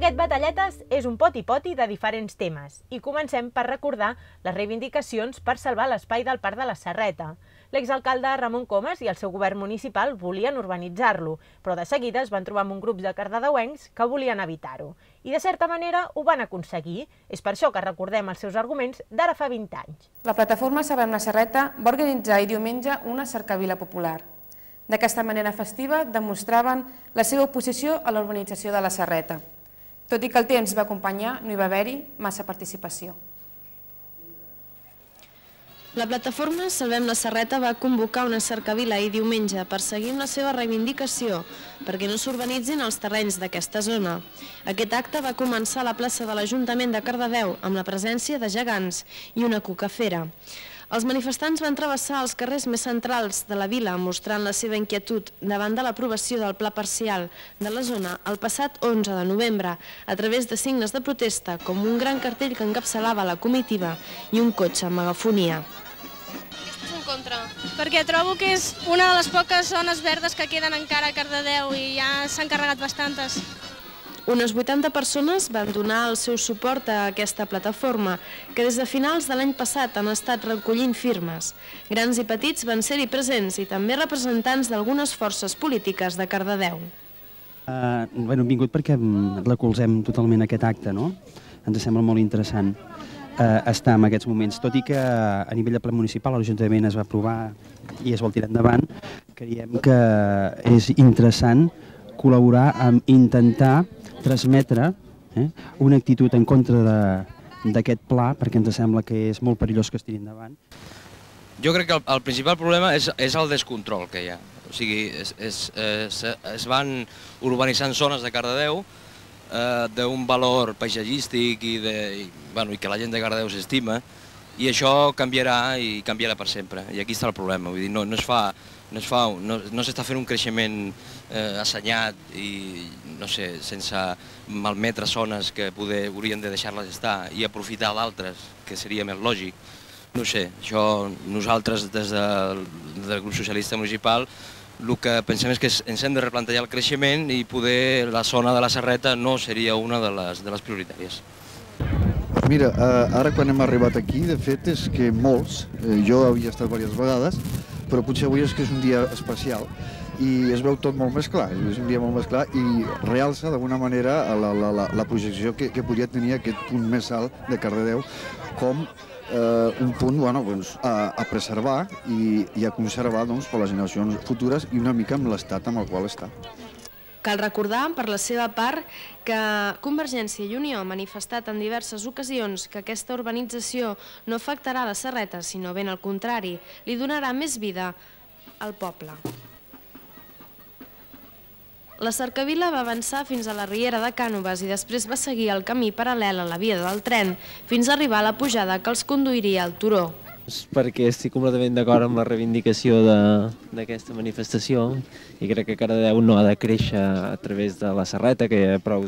Aquest Batalletes és un poti-poti de diferents temes i comencem per recordar les reivindicacions per salvar l'espai del Parc de la Serreta. L'exalcalde Ramon Comas i el seu govern municipal volien urbanitzar-lo, però de seguida es van trobar amb un grup de cardedeuencs que volien evitar-ho. I de certa manera ho van aconseguir. És per això que recordem els seus arguments d'ara fa 20 anys. La plataforma Salvem la Serreta va organitzar diumenge una cercavila popular. D'aquesta manera festiva demostraven la seva oposició a la urbanització de la Serreta. Tot i que el temps va acompanyar, no hi va haver-hi massa participació. La plataforma Salvem la Serreta va convocar una cercavila ahir diumenge per seguir amb la seva reivindicació perquè no s'urbanitzin els terrenys d'aquesta zona. Aquest acte va començar a la plaça de l'Ajuntament de Cardedeu amb la presència de gegants i una cucafera. Els manifestants van travessar els carrers més centrals de la vila mostrant la seva inquietud davant de l'aprovació del pla parcial de la zona el passat 11 de novembre a través de signes de protesta com un gran cartell que encapçalava la comitiva i un cotxe amb megafonia. Estàs en contra? Perquè trobo que és una de les poques zones verdes que queden encara a Cardedeu i ja s'han carregat bastantes. Unes 80 persones van donar el seu suport a aquesta plataforma, que des de finals de l'any passat han estat recollint firmes. Grans i petits van ser-hi presents i també representants d'algunes forces polítiques de Cardedeu. Hem vingut perquè recolzem totalment aquest acte, no? Ens sembla molt interessant estar en aquests moments, tot i que a nivell de ple municipal l'Ajuntament es va aprovar i es vol tirar endavant. Creiem que és interessant col·laborar amb intentar transmetre una actitud en contra d'aquest pla, perquè ens sembla que és molt perillós que es tiri endavant. Jo crec que el principal problema és el descontrol que hi ha. O sigui, es van urbanitzant zones de Cardedeu d'un valor paisatgístic i que la gent de Cardedeu s'estima, i això canviarà i canviarà per sempre. I aquí està el problema. Vull dir, no s'està fent un creixement assenyat i, no sé, sense malmetre zones que haurien de deixar-les estar i aprofitar d'altres, que seria més lògic. No sé, això nosaltres des del grup socialista municipal el que pensem és que ens hem de replantejar el creixement i poder la zona de la Serreta no seria una de les prioritàries. Mira, ara quan hem arribat aquí, de fet, és que molts, jo havia estat diverses vegades, però potser avui és que és un dia especial i es veu tot molt més clar, és un dia molt més clar i realça d'alguna manera la projecció que podria tenir aquest punt més alt de Cardedeu com un punt a preservar i a conservar per les generacions futures i una mica amb l'estat amb el qual està. Cal recordar, per la seva part, que Convergència i Unió ha manifestat en diverses ocasions que aquesta urbanització no afectarà la Serreta, sinó ben al contrari, li donarà més vida al poble. La cercavila va avançar fins a la riera de Cànoves i després va seguir el camí paral·lel a la via del tren fins a arribar a la pujada que els conduiria al turó. Perquè estic completament d'acord amb la reivindicació d'aquesta manifestació i crec que Cardedeu no ha de créixer a través de la Serreta, que hi ha prou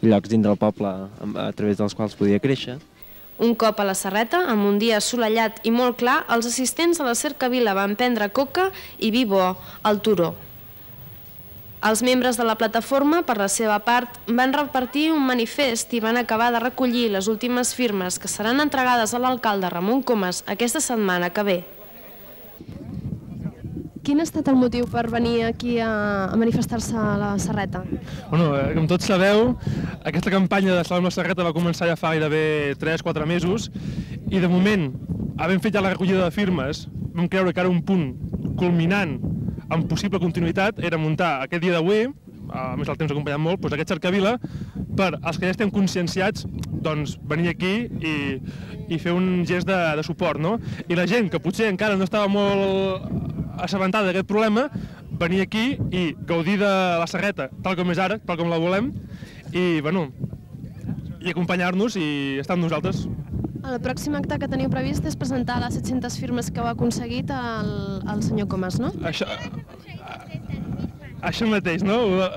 llocs dins del poble a través dels quals podia créixer. Un cop a la Serreta, amb un dia assolellat i molt clar, els assistents a la cercavila van prendre coca i vi bo al turó. Els membres de la plataforma, per la seva part, van repartir un manifest i van acabar de recollir les últimes firmes que seran entregades a l'alcalde Ramon Comas aquesta setmana que ve. Quin ha estat el motiu per venir aquí a manifestar-se a la Serreta? Com tots sabeu, aquesta campanya de Salvem la Serreta va començar ja fa gairebé 3-4 mesos i de moment, havent fet ja la recollida de firmes, vam creure que era un punt culminant amb possible continuïtat era muntar aquest dia d'avui, a més el temps ha acompanyat molt, aquesta cercavila per als que ja estem conscienciats venir aquí i fer un gest de suport. I la gent que potser encara no estava molt assabentada d'aquest problema, venir aquí i gaudir de la Serreta tal com és ara, tal com la volem, i acompanyar-nos i estar amb nosaltres. El pròxim acte que teniu previst és presentar les 700 firmes que heu aconseguit al senyor Comas, no? Això mateix, no?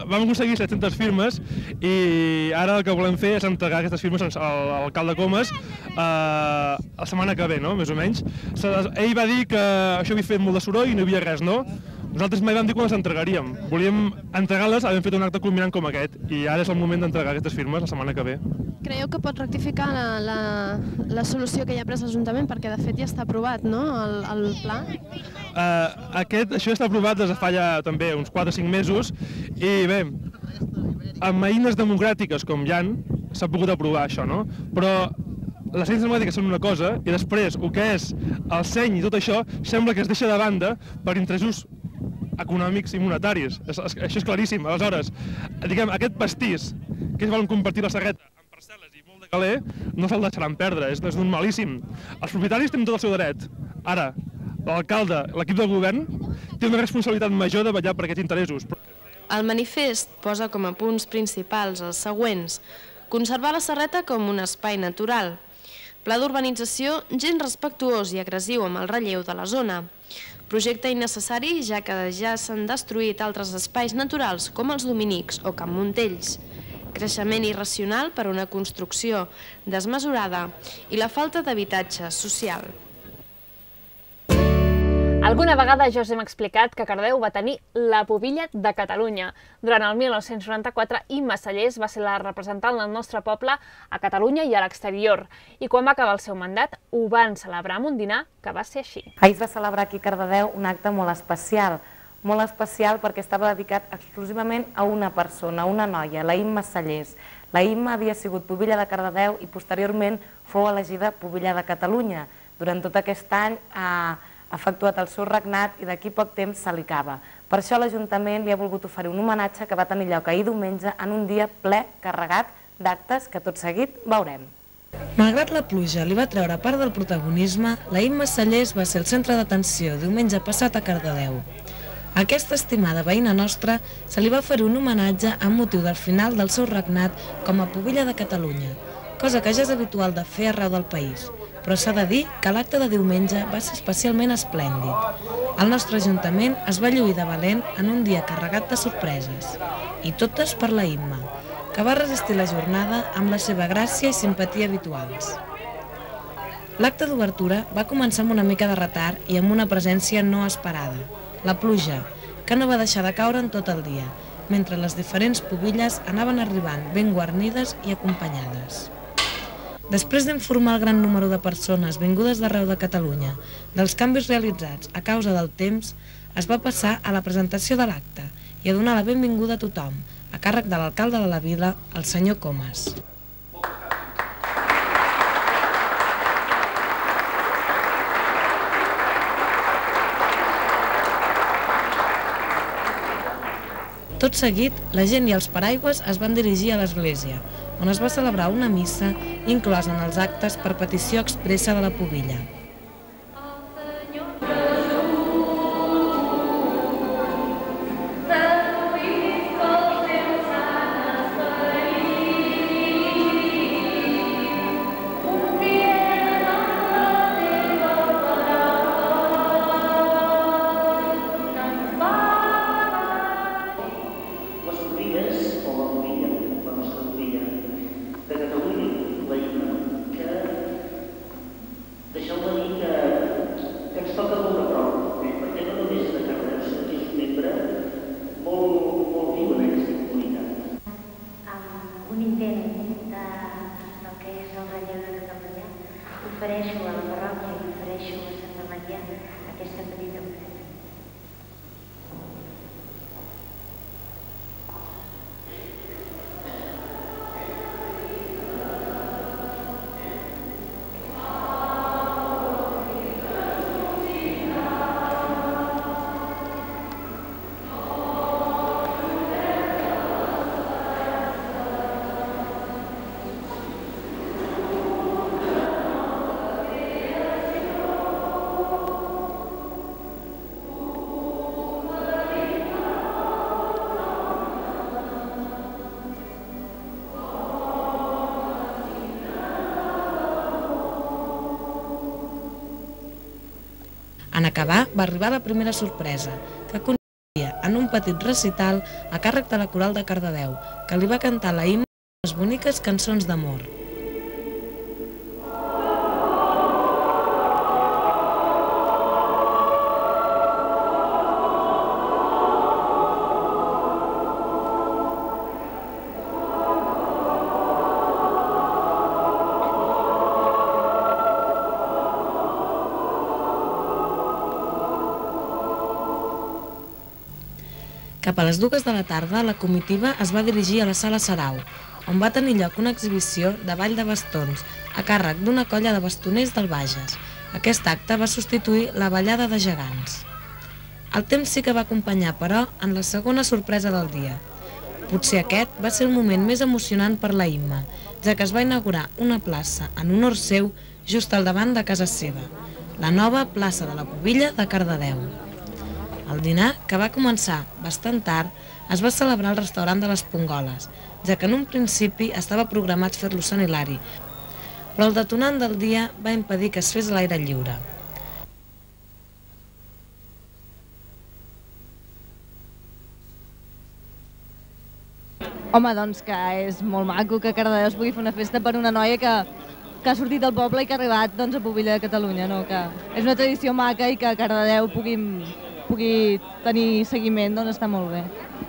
Vam aconseguir 700 firmes i ara el que volem fer és entregar aquestes firmes a l'alcalde Comas la setmana que ve, no? Més o menys. Ell va dir que això havia fet molt de soroll i no hi havia res, no? Nosaltres mai vam dir quan les entregaríem. Volíem entregar-les, havent fet un acte culminant com aquest, i ara és el moment d'entregar aquestes firmes la setmana que ve. Creieu que pot rectificar la solució que ja ha pres l'Ajuntament, perquè de fet ja està aprovat, no?, el pla? Això està aprovat des de fa ja també uns 4 o 5 mesos, i bé, amb eines democràtiques com hi ha, s'ha pogut aprovar això, no? Però les eines democràtiques són una cosa, i després el que és el seny i tot això sembla que es deixa de banda per interessos econòmics i monetaris. Això és claríssim. Aleshores, diguem, aquest pastís que es volen compartir la Serreta amb parcel·les i molt de caler, no se'l deixaran perdre, és d'un malíssim. Els propietaris tenen tot el seu dret. Ara, l'alcalde, l'equip de govern, té una responsabilitat major de vetllar per aquests interessos. El manifest posa com a punts principals els següents: conservar la Serreta com un espai natural, pla d'urbanització gens respectuós i agressiu amb el relleu de la zona, projecte innecessari ja que ja s'han destruït altres espais naturals com els Dominics o Can Montells, creixement irracional per una construcció desmesurada i la falta d'habitatge social. Alguna vegada ja us hem explicat que Cardedeu va tenir la pubilla de Catalunya. Durant el 1994, Imma Sallés va ser la representant del nostre poble a Catalunya i a l'exterior. I quan va acabar el seu mandat, ho van celebrar amb un dinar que va ser així. Ahir es va celebrar aquí a Cardedeu un acte molt especial perquè estava dedicat exclusivament a una persona, a una noia, la Imma Sallés. La Imma havia sigut pubilla de Cardedeu i posteriorment fou elegida pubilla de Catalunya. Durant tot aquest any ha efectuat el seu regnat i d'aquí poc temps se li acaba. Per això l'Ajuntament li ha volgut oferir un homenatge que va tenir lloc ahir diumenge en un dia ple, carregat d'actes que tot seguit veurem. Malgrat la pluja li va treure part del protagonisme, la Imma Sallés va ser el centre d'atenció diumenge passat a Cardedeu. A aquesta estimada veïna nostra se li va oferir un homenatge amb motiu del final del seu regnat com a pubilla de Catalunya, cosa que ja és habitual de fer arreu del país. Però s'ha de dir que l'acte de diumenge va ser especialment esplèndid. El nostre Ajuntament es va lluir de valent en un dia carregat de sorpreses. I totes per la Imma, que va resistir la jornada amb la seva gràcia i simpatia habituals. L'acte d'obertura va començar amb una mica de retard i amb una presència no esperada. La pluja, que no va deixar de caure en tot el dia, mentre les diferents pubilles anaven arribant ben guarnides i acompanyades. Després d'informar el gran número de persones vingudes d'arreu de Catalunya dels canvis realitzats a causa del temps, es va passar a la presentació de l'acte i a donar la benvinguda a tothom, a càrrec de l'alcalde de la vila, el senyor Comas. Tot seguit, la gent i els paraigües es van dirigir a l'església, on es va celebrar una missa inclosa en els actes per petició expressa de la pubilla. Ofereixo a la parròquia i ofereixo a Santa Maria aquesta petita ofrena. En acabar, va arribar la primera sorpresa, que consistia en un petit recital a càrrec de la Coral de Cardedeu, que li va cantar la Imma les boniques cançons d'amor. Cap a les 2 de la tarda, la comitiva es va dirigir a la Sala Sarau, on va tenir lloc una exhibició de ball de bastons, a càrrec d'una colla de bastoners del Bages. Aquest acte va substituir la ballada de gegants. El temps sí que va acompanyar, però, en la segona sorpresa del dia. Potser aquest va ser el moment més emocionant per la Imma, ja que es va inaugurar una plaça en honor seu just al davant de casa seva, la nova plaça de la Pubilla de Cardedeu. El dinar, que va començar bastant tard, es va celebrar al restaurant de les Pongoles, ja que en un principi estava programat fer-lo Sant Hilari, però el detonant del dia va impedir que es fes a l'aire lliure. Home, doncs que és molt maco que a Cardedeu es pugui fer una festa per una noia que ha sortit del poble i que ha arribat a Pubilla de Catalunya, no? Que és una tradició maca i que a Cardedeu pugui tenir seguiment, doncs està molt bé.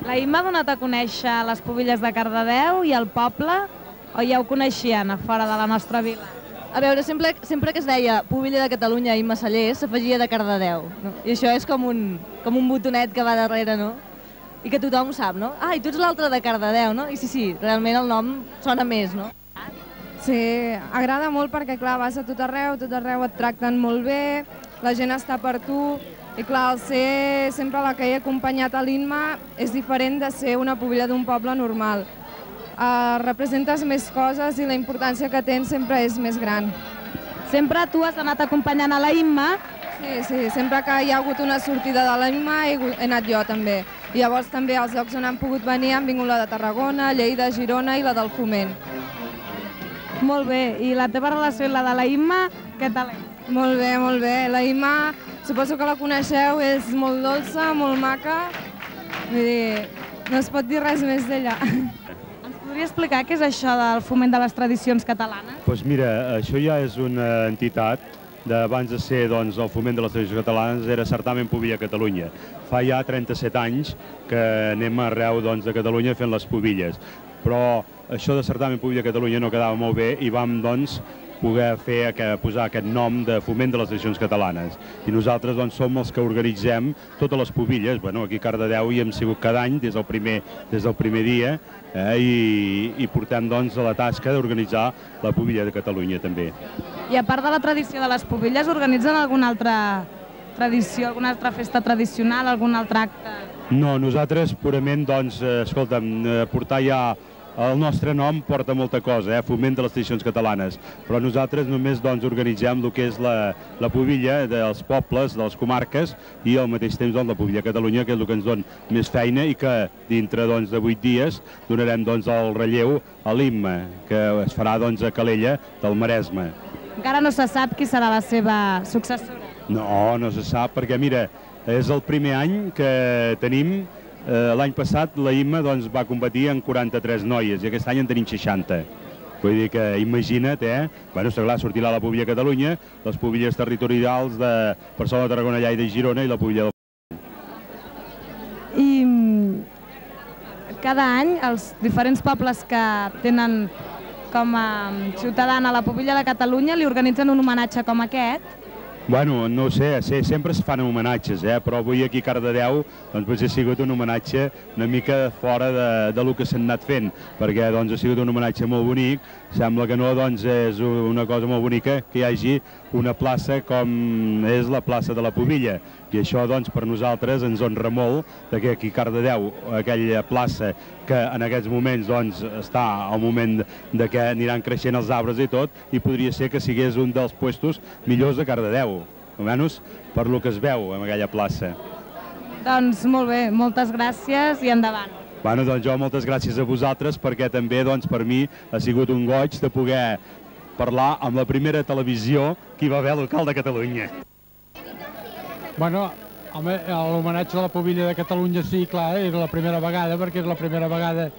La Imma ha donat a conèixer les Pubilles de Cardedeu i el poble, o ja ho coneixien a fora de la nostra vila? A veure, sempre que es deia Pubilla de Catalunya i Massalers s'afegia de Cardedeu, no? I això és com un botonet que va darrere, no? I que tothom ho sap, no? Ah, i tu ets l'altre de Cardedeu, no? I sí, realment el nom sona més, no? Sí, agrada molt perquè, clar, vas a tot arreu et tracten molt bé, la gent està per tu, i clar, el ser sempre la que he acompanyat a l'Imma és diferent de ser una pubilla d'un poble normal. Representes més coses i la importància que tens sempre és més gran. Sempre tu has anat acompanyant a la Imma? Sí, sempre que hi ha hagut una sortida de la Imma he anat jo també. I llavors també als llocs on han pogut venir han vingut la de Tarragona, Lleida, Girona i la del Foment. Molt bé, i la teva relació i la de la Imma, què tal és? Molt bé, molt bé. La Imma, suposo que la coneixeu, és molt dolça, molt maca. Vull dir, no es pot dir res més d'ella. Ens podria explicar què és això del Foment de les Tradicions Catalanes? Doncs mira, això ja és una entitat d'abans de ser el Foment de les Tradicions Catalanes, era Certamen Pubilla Catalunya. Fa ja 37 anys que anem arreu de Catalunya fent les pubilles, però això de Certamen Pubilla Catalunya no quedava molt bé i vam poder posar aquest nom de Foment de les Tradicions Catalanes. I nosaltres som els que organitzem totes les pubilles. Aquí a Cardedeu hi hem sigut cada any des del primer dia i portem a la tasca d'organitzar la Pubilla de Catalunya també. I a part de la tradició de les pubilles, organitzen alguna altra tradició, alguna altra festa tradicional, algun altre acte? No, nosaltres purament, escolta'm, portar ja el nostre nom porta molta cosa, Foment de les Tradicions Catalanes, però nosaltres només organitzem el que és la pubilla dels pobles, de les comarques, i al mateix temps la Pubilla de Catalunya, que és el que ens dona més feina i que dintre de 8 dies donarem el relleu a l'Imma, que es farà a Calella del Maresme. Encara no se sap qui serà la seva successora? No se sap, perquè mira, és el primer any que tenim. L'any passat la Imma va competir en 43 noies i aquest any en tenim 60. Vull dir que imagina't, sortirà la Pubilla de Catalunya, les pubilles territorials de Barcelona, Tarragona, Lleida i Girona i la Pubilla del... I cada any els diferents pobles que tenen com a ciutadana la Pubilla de Catalunya li organitzen un homenatge com aquest? Bueno, no ho sé, sempre es fan homenatges, però avui aquí a Cardedeu ha sigut un homenatge una mica fora del que s'ha anat fent, perquè ha sigut un homenatge molt bonic. Sembla que no, és una cosa molt bonica que hi hagi una plaça com és la plaça de la Pubilla, i això per nosaltres ens honra molt que aquí a Cardedeu, aquella plaça que en aquests moments està al moment que aniran creixent els arbres i tot, i podria ser que sigués un dels puestos millors de Cardedeu, almenys per lo que es veu en aquella plaça. Doncs molt bé, moltes gràcies i endavant. Bueno, jo moltes gràcies a vosaltres, perquè també per mi ha sigut un goig de poder parlar amb la primera televisió que hi va haver local de Catalunya. Bueno, home, l'homenatge a la Pubilla de Catalunya sí, clar, és la primera vegada, perquè és la primera vegada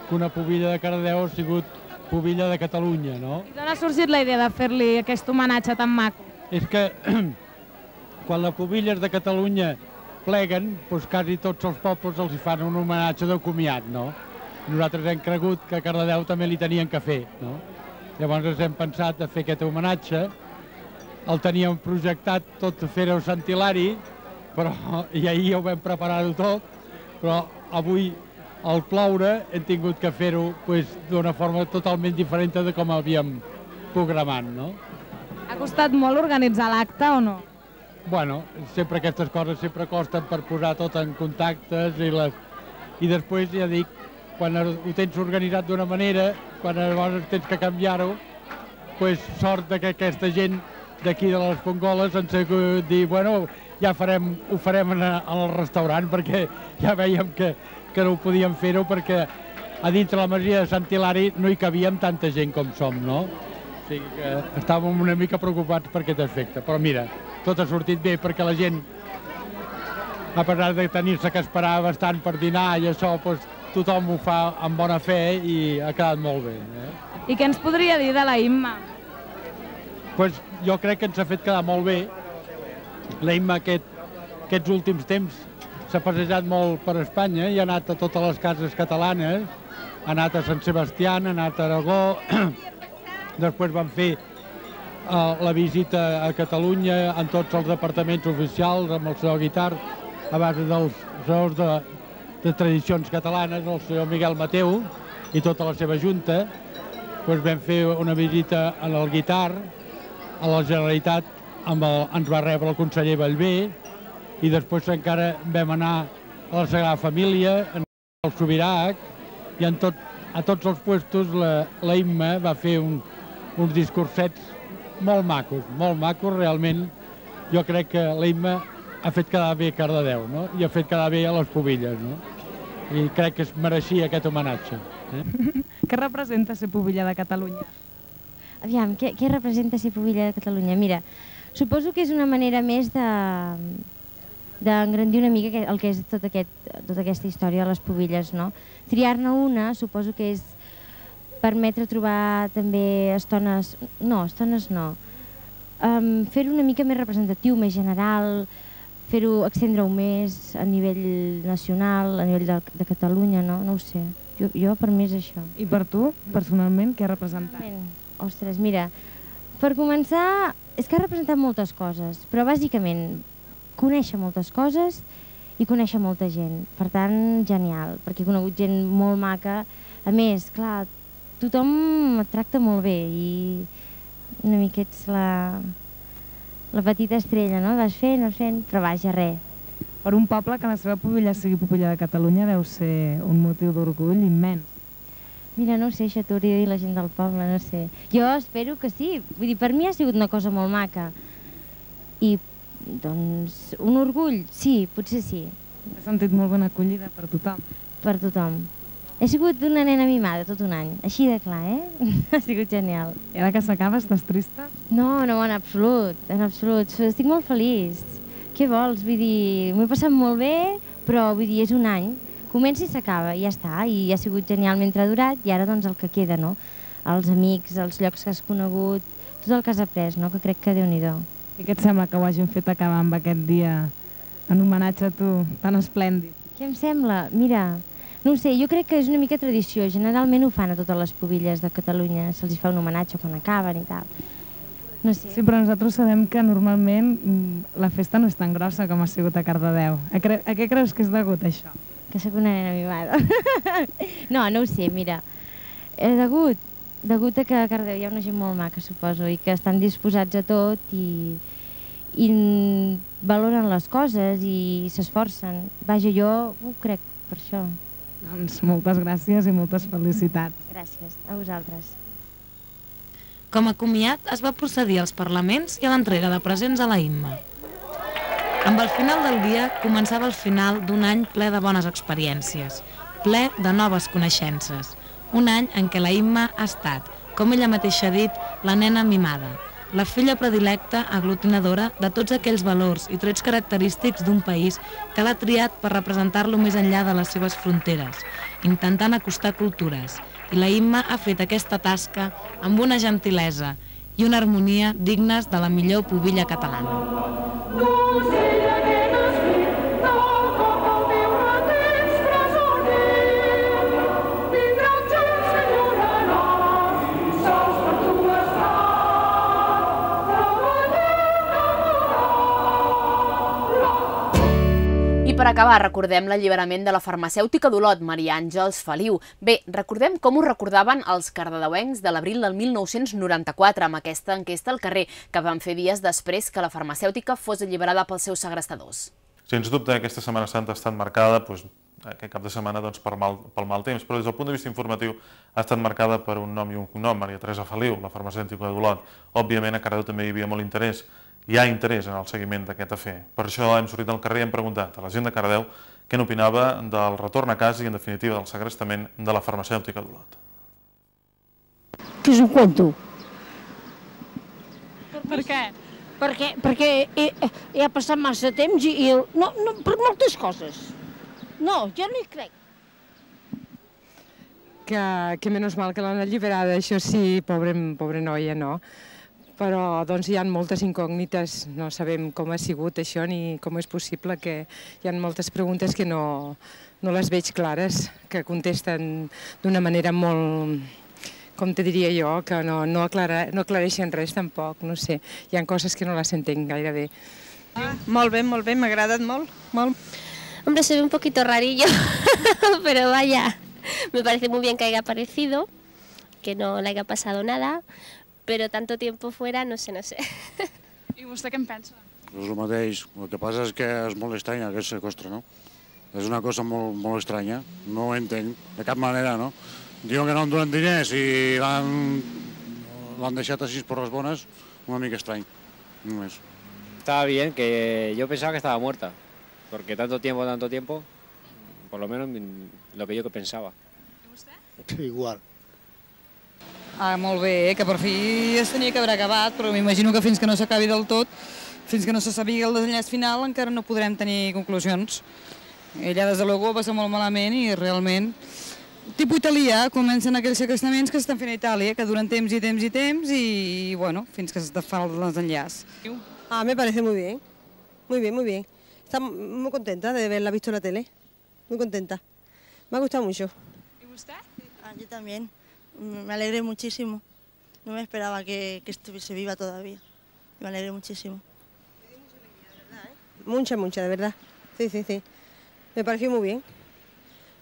que una Pubilla de Cardedeu ha sigut Pubilla de Catalunya, no? I d'on ha sorgit la idea de fer-li aquest homenatge tan maco? És que quan les Pubilles de Catalunya pleguen, doncs quasi tots els pobles els fan un homenatge de comiat, no? Nosaltres hem cregut que a Cardedeu també li tenien que fer, no? Llavors hem pensat de fer aquest homenatge, el teníem projectat tot fer-ho a Sant Hilari, però i ahir ho vam preparar tot, però avui al ploure hem tingut que fer-ho d'una forma totalment diferent de com havíem programat, no? Ha costat molt organitzar l'acte o no? Bueno, sempre aquestes coses sempre costen per posar tot en contactes i després, ja dic, quan ho tens organitzat d'una manera, quan llavors tens que canviar-ho, sort que aquesta gent d'aquí de les Fongoles ens ha dit, bueno, ja ho farem al restaurant, perquè ja veiem que no ho podíem fer-ho, perquè a dintre la masia de Sant Hilari no hi cabíem tanta gent com som, no? O sigui que estàvem una mica preocupats per aquest aspecte, però mira, tot ha sortit bé perquè la gent, a pesar de tenir-se que esperar bastant per dinar i això, tothom ho fa amb bona fe i ha quedat molt bé. I què ens podria dir de la Imma? Jo crec que ens ha fet quedar molt bé. La Imma aquests últims temps s'ha passejat molt per Espanya i ha anat a totes les cases catalanes, ha anat a Sant Sebastià, ha anat a Aragó, després van fer la visita a Catalunya en tots els departaments oficials, amb el senyor Guitart, a base dels senyors de tradicions catalanes, el senyor Miguel Mateu i tota la seva junta. Vam fer una visita al Guitart, a la Generalitat ens va rebre el conseller Bellver i després encara vam anar a la Sagrada Família, al Subirac, i a tots els puestos la Imma va fer uns discursets molt macos, realment. Jo crec que la Imma ha fet quedar bé Cardedeu, no? I ha fet quedar bé a les Pubilles, no? I crec que es mereixia aquest homenatge. Què representa ser pubilla de Catalunya? Aviam, què representa ser pubilla de Catalunya? Mira, suposo que és una manera més d'engrandir una mica el que és tota aquesta història de les pubilles, no? Triar-ne una suposo que és permetre trobar també estones no, fer-ho una mica més representatiu, més general, fer-ho, extendre-ho més a nivell nacional, a nivell de Catalunya, no ho sé. Jo per mi és això. I per tu, personalment, què ha representat? Ostres, mira, per començar, és que ha representat moltes coses, però bàsicament conèixer moltes coses i conèixer molta gent. Per tant, genial, perquè he conegut gent molt maca. A més, clar, tothom et tracta molt bé i una mica ets la petita estrella, no? Vas fent, però vaja, res. Per un poble que la seva pubilla sigui pubilla de Catalunya deu ser un motiu d'orgull immens. Mira, no ho sé, això t'ho hauria de dir la gent del poble, no sé. Jo espero que sí, vull dir, per mi ha sigut una cosa molt maca. I, doncs, un orgull, sí, potser sí. T'has sentit molt ben acollida per tothom? Per tothom. He sigut una nena mimada tot un any, així de clar, Ha sigut genial. I ara que s'acaba, estàs trista? No, en absolut, estic molt feliç. Què vols? Vull dir, m'ho he passat molt bé, però vull dir, és un any. Comença i s'acaba, i ja està, i ha sigut genial mentre ha durat, i ara doncs el que queda, no? Els amics, els llocs que has conegut, tot el que has après, no? Que crec que Déu-n'hi-do. I què et sembla que ho hagin fet acabar amb aquest dia en homenatge a tu, tan esplèndid? Què em sembla? Mira, no ho sé, jo crec que és una mica tradició, generalment ho fan a totes les pubilles de Catalunya, se'ls fa un homenatge quan acaben i tal. No sé. Sí, però nosaltres sabem que normalment la festa no és tan grossa com ha sigut a Cardedeu. A què creus que és degut, això? Que sóc una nena mimada. No ho sé, mira. Degut a que a Cardedeu hi ha una gent molt maca, suposo, i que estan disposats a tot i valoren les coses i s'esforcen. Vaja, jo ho crec per això. Doncs moltes gràcies i moltes felicitats. Gràcies, a vosaltres. Com a comiat es va procedir als parlaments i a l'entrega de presents a la Imma. Amb el final del dia començava el final d'un any ple de bones experiències, ple de noves coneixences. Un any en què la Imma ha estat, com ella mateixa ha dit, la nena mimada, la filla predilecta aglutinadora de tots aquells valors i trets característics d'un país que l'ha triat per representar-lo més enllà de les seves fronteres, intentant acostar cultures. I la Imma ha fet aquesta tasca amb una gentilesa i una harmonia dignes de la millor pubilla catalana. I per acabar, recordem l'alliberament de la farmacèutica d'Olot, Maria Àngels Feliu. Bé, recordem com ho recordaven els cardedeuencs de l'abril del 1994 amb aquesta enquesta al carrer, que van fer dies després que la farmacèutica fos alliberada pels seus segrestadors. Sens dubte, aquesta Setmana Santa ha estat marcada, aquest cap de setmana, pel mal temps, però des del punt de vista informatiu ha estat marcada per un nom i un cognom, Maria Teresa Feliu, la farmacèutica d'Olot. Òbviament, a Cardedeu també hi havia molt interès. Hi ha interès en el seguiment d'aquest afer. Per això hem sortit al carrer i hem preguntat a la gent de Cardedeu què n'opinava del retorn a casa i, en definitiva, del segrestament de la farmacèutica d'Olot. Que és un cuento. Per què? Perquè ha passat massa temps i no, per moltes coses. No, jo no hi crec. Que menys mal que l'han alliberada, això sí, pobra noia, no? Però doncs hi ha moltes incògnites, no sabem com ha sigut això ni com és possible, que hi ha moltes preguntes que no les veig clares, que contesten d'una manera molt, com te diria jo, que no aclareixen res tampoc, no sé, hi ha coses que no les entenc gaire bé. Molt bé, m'ha agradat molt. Hombre, se ve un poquito rarillo, pero vaya, me parece muy bien que haya aparecido, que no le haya pasado nada, però tanto tiempo fuera, no sé. I vostè què en pensa? És el mateix, el que passa és que és molt estrany aquest seqüestre, no? És una cosa molt estranya, no ho entenc, de cap manera, no? Diuen que no em donen diners i l'han deixat així por les bones, una mica estrany, només. Estaba bien, que yo pensaba que estaba muerta, porque tanto tiempo, por lo menos lo que yo pensaba. I vostè? Sí, igual. Molt bé, que per fi es tenia que haver acabat, però m'imagino que fins que no s'acabi del tot, fins que no se sàpiga el desenllaç final, encara no podrem tenir conclusions. Ella, des de luego, va ser molt malament i realment... Tipus italià, comencen aquells segrestament que s'estan fent a Itàlia, que duren temps i, bueno, fins que es fa el desenllaç. Me parece muy bien, muy bien. Está muy contenta de haberla visto en la tele, muy contenta. Me ha gustado mucho. ¿Y usted? Yo también. Me alegré muchísimo. No me esperaba que estuviese viva todavía. Me alegré muchísimo. Mucha, de verdad. Sí. Me pareció muy bien.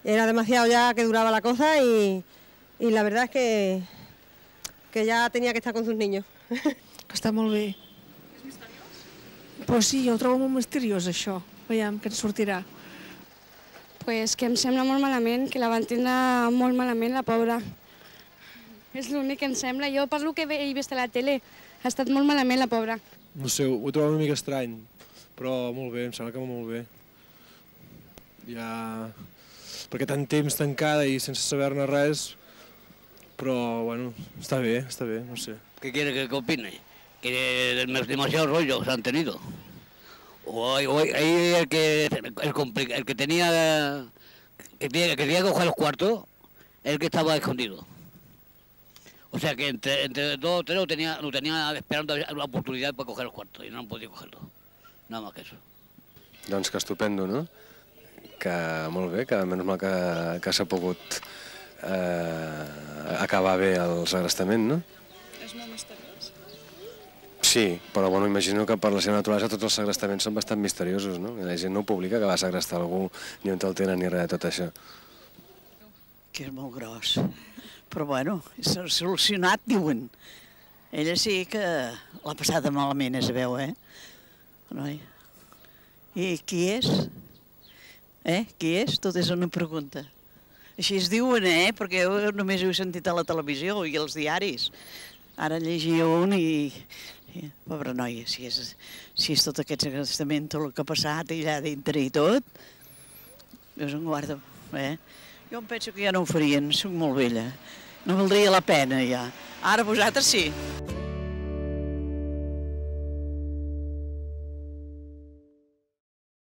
Era demasiado ya que duraba la cosa y la verdad es que ya tenía que estar con sus niños. Està molt bé. És misteriós? Pues sí, jo ho trobo molt misteriós, això. Veiem què ens sortirà. Pues que em sembla molt malament, que la van tindre molt malament, la pobra. És l'únic que em sembla. Jo, per lo que he vist a la tele, ha estat molt malament, la pobra. No sé, ho trobo una mica estrany, però molt bé, em sembla que molt bé. Ja... perquè tant temps tancada i sense saber-ne res, però, bueno, està bé, no sé. ¿Qué quiere que opine? Que demasiados rollos han tenido. O ahí el que tenía que coger los cuartos, el que estaba escondido. O sea que entre dos o tres lo tenía esperando la oportunidad para coger los cuartos y no han podido cogerlo. Nada más que eso. Doncs que estupendo, no? Que molt bé, que menys mal que s'ha pogut acabar bé el segrestament, no? És molt misteriós. Sí, però bueno, imagino que per la seva naturalesa tots els segrestaments són bastant misteriosos, no? I la gent no ho publica que va segrestar algú, ni on el tenen, ni res de tot això. Que és molt gros. Però bueno, s'ha solucionat, diuen. Ella sí que l'ha passada malament, es veu, Noi. I qui és? Qui és? Tot és una pregunta. Així es diuen, perquè jo només ho he sentit a la televisió i als diaris. Ara llegia un i... Pobra noia, si és tot aquest segrestament, tot el que ha passat allà dintre i tot, Déu se'n guarda, Jo em penso que ja no ho farien, soc molt vella. No valdria la pena, ja. Ara vosaltres sí.